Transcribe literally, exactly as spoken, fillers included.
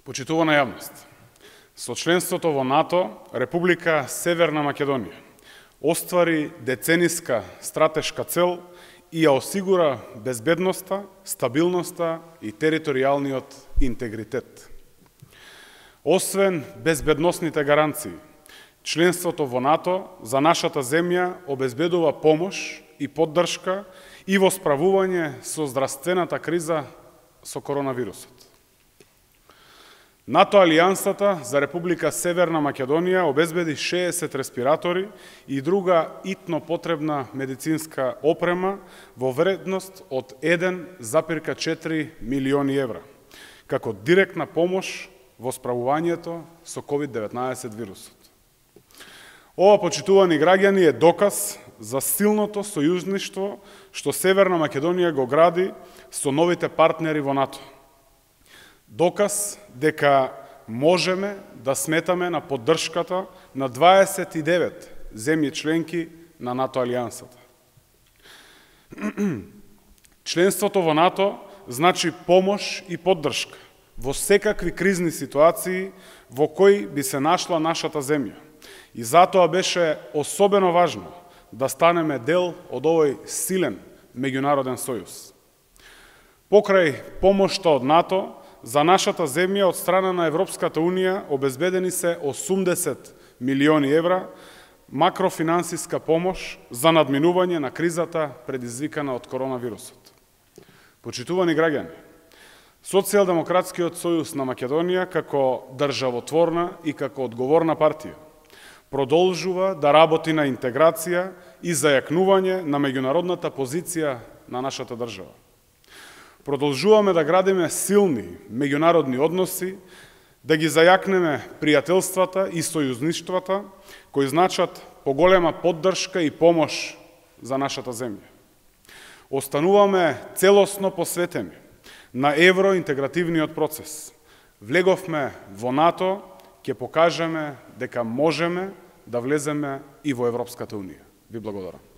Почитувана јавност, со членството во НАТО, Република Северна Македонија оствари децениска стратешка цел и ја осигура безбедноста, стабилноста и територијалниот интегритет. Освен безбедносните гаранции, членството во НАТО за нашата земја обезбедува помош и поддршка и во справување со здравствената криза со коронавирусот. НАТО Алијансата за Република Северна Македонија обезбеди шеесет респиратори и друга итно потребна медицинска опрема во вредност од еден zarez четири милиони евра, како директна помош во справувањето со ковид деветнаесет вирусот. Ова, почитувани граѓани, е доказ за силното сојузништво што Северна Македонија го гради со новите партнери во НАТО. Доказ дека можеме да сметаме на поддршката на дваесет и девет земји членки на НАТО Алијансата. Членството во НАТО значи помош и поддршка во секакви кризни ситуации во кои би се нашла нашата земја. И затоа беше особено важно да станеме дел од овој силен меѓународен сојуз. Покрај помошта од НАТО, за нашата земја од страна на Европската Унија обезбедени се осумдесет милиони евра макрофинансиска помош за надминување на кризата предизвикана од коронавирусот. Почитувани граѓани, Социјалдемократскиот сојуз на Македонија како државотворна и како одговорна партија продолжува да работи на интеграција и зајакнување на меѓународната позиција на нашата држава. Продолжуваме да градиме силни меѓународни односи, да ги зајакнеме пријателствата и сојузништвата, кои значат поголема поддршка и помош за нашата земја. Остануваме целосно посветени на евроинтегративниот процес. Влеговме во НАТО, ќе покажеме дека можеме да влеземе и во Европската Унија. Ви благодарам.